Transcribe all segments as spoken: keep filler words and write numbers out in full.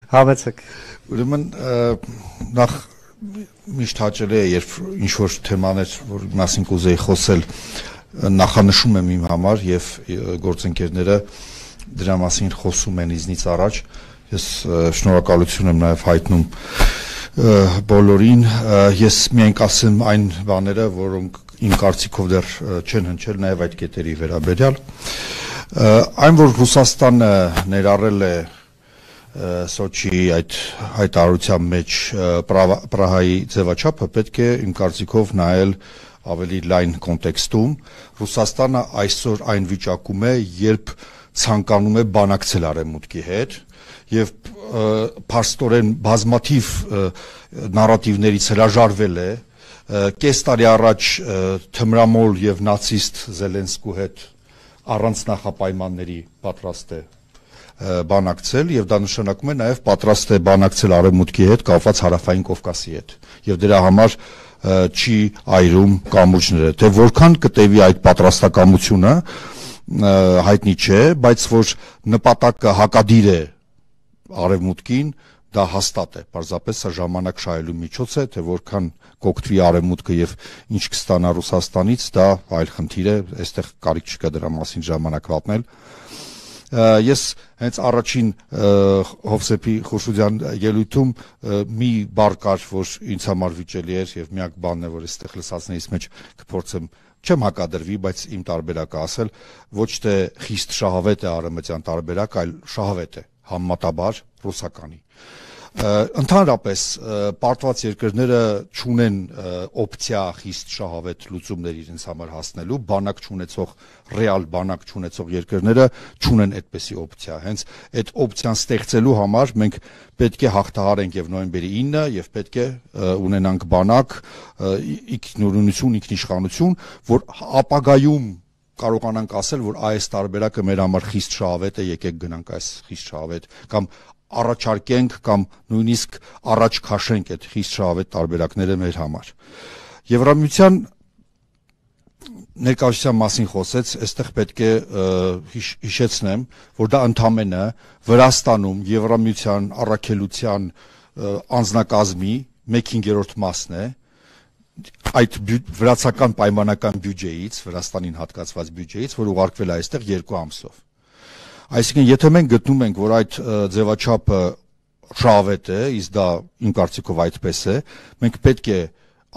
Հավեցեք։ Ուրեմն նախ միշտ հաճելի է, երբ ինչ-որ թեմաներ, որ մասին կուզեի խոսել, նախանշում եմ իմ համար և գործընկերները դրա մասին խոսում են ինձնից առաջ, ես շնորհակալություն եմ նաև հայտնում բոլորին, ես միայն կասեմ այն բաները, որոնք իմ կարծիքով դեռ չեն հնչել նաև այդ կետերի վերաբերյալ, այն որ Ռուսաստանը ներառել է Սոչիի այդ հայտարարության մեջ Պրահայի ձևաչափը պետք է իմ կարծիքով նայել ավելի լայն կոնտեքստում, Ռուսաստանը այսօր այն վիճակում է, երբ ցանկանում է բանակցել Արևմուտքի հետ և փաստորեն բազմաթիվ նարատիվներից հրաժարվել է, կես տարի առաջ թմրամոլ և նացիստ Զելենսկու հետ առանց նախապայմանների պատրաստ է բանակցել և դա նշանակում է նաև պատրաստ է բանակցել Արևմուտքի հետ կապված Հարավային Կովկասի հետ և դրա համար չի այրում կամուրջները, թե որքան կտևի այդ պատրաստակամությունը հայտնի չէ, բայց որ նպատակը հակադիր է Արևմուտքին, դա հաստատ է, պարզապես սա ժամանակ շահելու միջոց է, թե որքան կօգտվի Արևմուտքը և ինչ կստանա Ռուսաստանից, դա այլ խնդիր է, այստեղ կարիք չկա դրա մասին ժամանակ վատնել։ Ես հենց առաջին Հովսեփի Խուրշուդյան ելույթում մի բառ կար, որ ինձ համար վիճելի էր և միակ բանն է, որ այստեղ լսածներից մեջ կփորձեմ չեմ հակադրվի, բայց իմ տարբերակը ասել, ոչ թե խիստ շահավետ է արևմտյան տարբերակ, այլ շահավետ է, համեմատաբար ռուսականի։ Ընդհանրապես պարտված երկրները չունեն օպցիա խիստ շահավետ լուծումներ իրենց համար հասնելու, բանակ չունեցող, ռեալ բանակ չունեցող երկրները չունեն այդպիսի օպցիա, հենց այդ օպցիան ստեղծելու համար մենք պետք է հաղթահարենք և նոյեմբերի ինը և պետք է ունենանք բանակ, ինքնուրույնություն, ինքնիշխանություն, որ ապագայում կարողանանք ասել, որ այս տարբերակը մեր համար խիստ շահավետ է, եկեք գնանք այս խիստ շահավետ կամ առաջարկենք կամ նույնիսկ առաջ քաշենք այդ խիստ շահավետ տարբերակները մեր համար։ Եվրամիության ներկայացության մասին խոսեց, այստեղ պետք է հիշեցնեմ, որ դա ընդամենը Վրաստանում Եվրամիության առաքելության անձնակազմի մեկ հինգերորդ մասն է, այդ վրացական պայմանական բյուջեից, Վրաստանին հատկացված բյուջեից, որ ուղարկվել է այստեղ երկու ամսով։ Այսինքն, եթե մենք գտնում ենք, որ այդ ձևաչափը շահավետ է, իսկ դա իմ կարծիքով այդպես է, մենք պետք է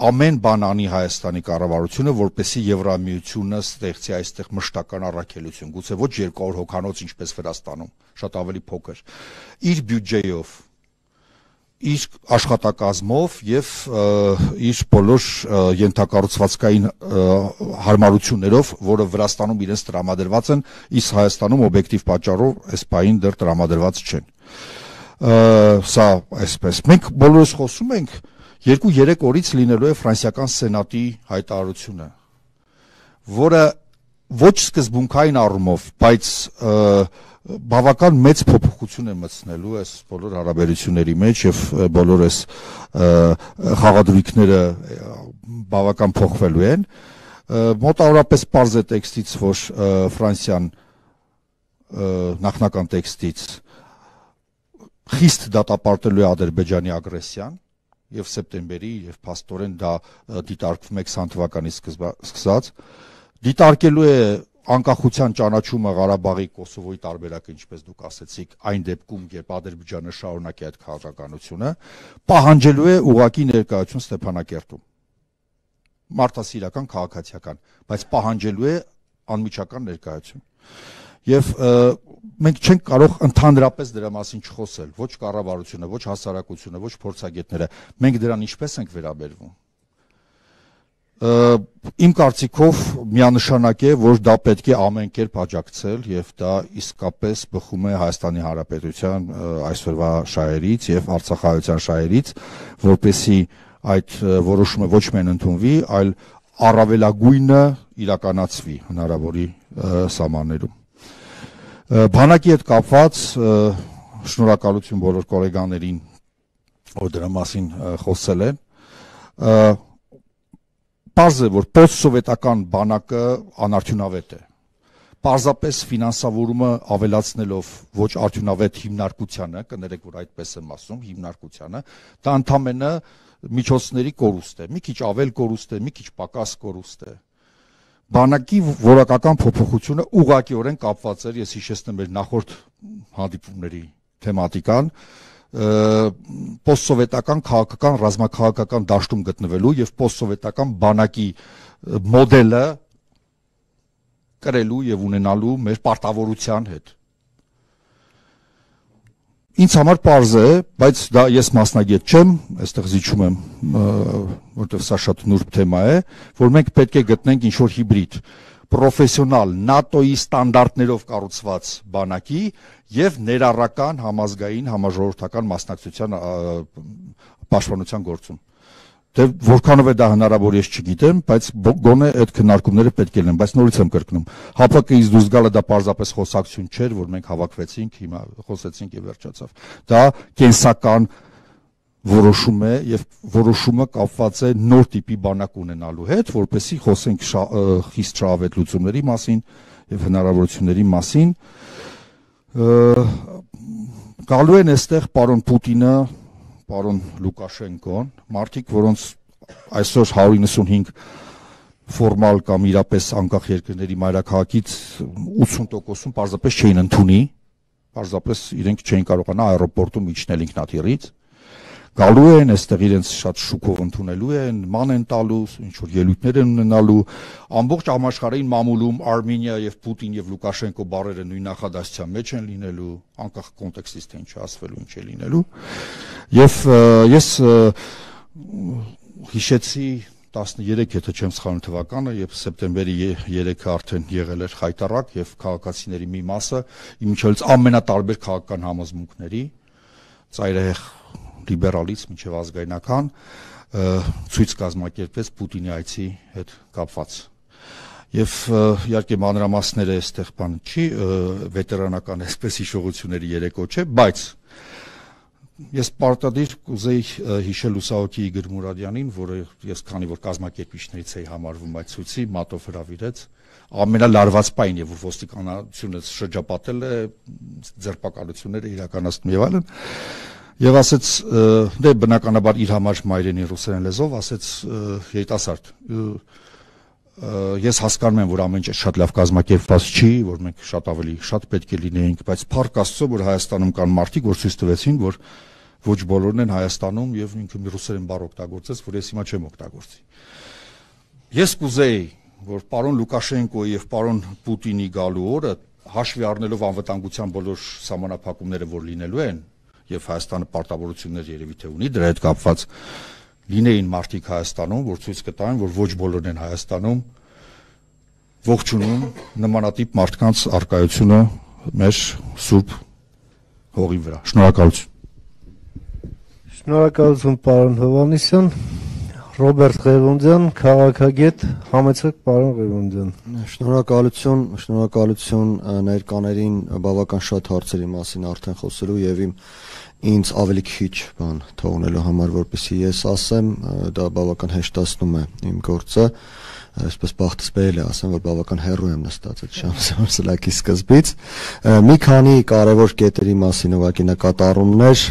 ամեն բան անի Հայաստանի կառավարությունը, որպեսզի Եվրամիությունը ստեղծի այստեղ մշտական առաքելություն, գուցե ոչ երկու հարյուր հոգանոց, ինչպես Վրաստանում, շատ ավելի փոքր, իր բյուջեով, իր աշխատակազմով և իր բոլոր ենթակառուցվածքային հարմարություններով, որը Վրաստանում իրենց տրամադրված են, իսկ Հայաստանում օբյեկտիվ պատճառով այս պահին դեռ տրամադրված չեն։ Սա այսպես։ Մենք բոլորս խոսում ենք, երկու-երեք օրից լինելու է ֆրանսիական սենատի հայտարարությունը, որը ոչ սկզբունքային առումով, բայց բավական մեծ փոփոխություն է մտցնելու այս բոլոր հարաբերությունների մեջ և բոլոր այս խաղադրույքները բավական փոխվելու են, մոտավորապես պարզ է տեքստից, որ Ֆրանսիան նախնական տեքստից խիստ դատապարտելու է Ադրբեջանի ագրեսիան և սեպտեմբերի և փաստորեն դա դիտարկվում է քսան թվականից սկսած, դիտարկելու է անկախության ճանաչումը Ղարաբաղի Կոսովոյի տարբերակը, ինչպես դուք ասեցիք, այն դեպքում, երբ Ադրբեջանը շարունակի այդ քաղաքականությունը, պահանջելու է ուղղակի ներկայություն Ստեփանակերտում, մարդասիրական, քաղաքացիական, բայց պահանջելու է անմիջական ներկայություն։ Եվ մենք չենք կարող ընդհանրապես դրա մասին չխոսել, ոչ կառավարությունը, ոչ հասարակությունը, ոչ փորձագետները, մենք դրան ինչպես ենք վերաբերվում։ Իմ կարծիքով միանշանակ է, որ դա պետք է ամեն կերպ աջակցել և դա իսկապես բխում է Հայաստանի Հանրապետության այսօրվա շահերից և արցախահայության շահերից, որպեսզի այդ որոշումը ոչ միայն ընդունվի, այլ առավելագույնը իրականացվի հնարավորի սահմաններում։ Բանակի հետ կապված շնորհակալություն բոլոր գոլեգաներին, որ դրա մասին խոսել են։ Պարզ է, որ պոստսովետական բանակը անարդյունավետ է, պարզապես ֆինանսավորումը ավելացնելով ոչ արդյունավետ հիմնարկությանը, կներեք, որ այդպես եմ ասում, հիմնարկությանը, դա ընդամենը միջոցների կորուստ է, մի քիչ ավել կորուստ է, մի քիչ պակաս կորուստ է։ Բանակի որակական փոփոխությունը ուղղակիորեն կապված էր, ես հիշեցնեմ մեր նախորդ հանդիպումների թեմատիկան, պոստսովետական քաղաքական ռազմաքաղաքական դաշտում գտնվելու եւ պոստսովետական բանակի մոդելը կրելու եւ ունենալու մեր պարտավորության հետ։ Ինձ համար պարզ է, բայց դա ես մասնագետ չեմ, այստեղ զիջում եմ, որտեղ սա շատ նուրբ թեմա է, որ մենք պետք է գտնենք ինչ-որ հիբրիդ, պրոֆեսիոնալ նատոյի ստանդարտներով կառուցված բանակի եւ ներառական համազգային համաժողովրդական մասնակցության պաշտպանության գործում։ Դե որքանով է դա հնարավոր ես չգիտեմ, բայց գոնե այդ քննարկումները պետք է լինեն, բայց նորից եմ կրկնում։ ՀԱՊԿ-ից դուրս գալը դա պարզապես խոսակցություն չէր, որ մենք հավաքվեցինք, հիմա խոսեցինք եւ վերջացավ։ Դա կենսական որոշում է եւ որոշումը կապված է նոր տիպի բանակ ունենալու հետ, որպեսզի խոսենք խիստ շահավետ լուծումների մասին եւ հնարավորությունների մասին։ Գալու են այստեղ պարոն Պուտինը, պարոն Լուկաշենկոն, մարդիկ, որոնց այսօր հարյուր իննսունհինգ ֆորմալ կամ իրապես անկախ երկրների մայրաքաղաքից ութսուն տոկոսում պարզապես չէին ընդունի, պարզապես իրենք չէին կարողանա аэроպորտում իջնել ինքնաթիռից, գալու են այստեղ իրենց շատ շուկով ընդունելու են, ման են տալու, ինչ որ ելույթներ են ունենալու, ամբողջ համաշխարհային մամուլում Արմենիա եւ Պուտին եւ Լուկաշենկո բառերը նույն նախադասության մեջ են լինելու, անկախ կոնտեքստից թե ինչ ասվելու, ինչ է լինելու։ Եվ ես հիշեցի տասներեք, եթե չեմ սխալվում թվականը, երբ սեպտեմբերի երեքը արդեն եղել էր խայտառակ եւ քաղաքացիների մի մասը, իմիջիայլոց ամենատարբեր քաղաքական համոզմունքների, ծայրահեղ լիբերալից մինչև ազգայնական ցույց կազմակերպվեց Պուտինի այցի հետ կապված։ Եվ իհարկե մանրամասները այստեղ բան չի, վետերանական այսպես հիշողությունների երեկո չէ, բայց ես պարտադիր կուզեի հիշել Լուսահոգի Իգոր Մուրադյանին, որը ես քանի որ կազմակերպիչներից էի համարվում այդ ցույցի, մատով հրավիրեց, ամենալարված պայն եւ որ ոստիկանությունը շրջապատել է, ձերբակալությունները իրականացնում եւ այլն։ Եվ ասեց, դե բնականաբար իր համար մայրենի ռուսերեն լեզվով, ասեց երիտասարդ, ես հասկանում եմ, որ ամեն ինչ շատ լավ կազմակերպված չի, որ մենք շատ ավելի շատ պետք է լինեինք, բայց փառք Աստծո, որ Հայաստանում կան մարդիկ, որ ցույց տվեցին, որ ոչ բոլորն են Հայաստանում եւ ինքը մի ռուսերեն բառ օգտագործեց, որ ես հիմա չեմ օգտագործի։ Ես կուզեի, որ պարոն Լուկաշենկոյի եւ պարոն Պուտինի գալու օրը հաշվի առնելով անվտանգության բոլոր սահմանափակումները, որ լինելու են, եւ Հայաստանը պարտավորություններ երևի թե ունի դրա հետ կապված լինեին մարդիկ Հայաստանում, որ ցույց կտային, որ ոչ բոլորն են Հայաստանում ողջունում նմանատիպ մարդկանց արկայությունը մեր սուրբ հողի վրա։ Շնորհակալություն։ Շնորհակալություն պարոն Հովհաննիսյան, Ռոբերտ Ղևոնդյան, քաղաքագետ, համեցեք պարոն Ղևոնդյան։ Շնորհակալություն, շնորհակալություն ներկաներին բավական շատ հարցերի մասին արդեն խոսելու եւ իմ ինձ ավելի քիչ բան թողնելու համար, որպեսզի ես ասեմ, դա բավական հեշտացնում է իմ գործը, այսպես բախտս բերել է ասեմ, որ բավական հեռու եմ նստած այդ շամսելակի սկզբից։ Մի քանի կարևոր կետերի մասին ուղղակի նկատառումներ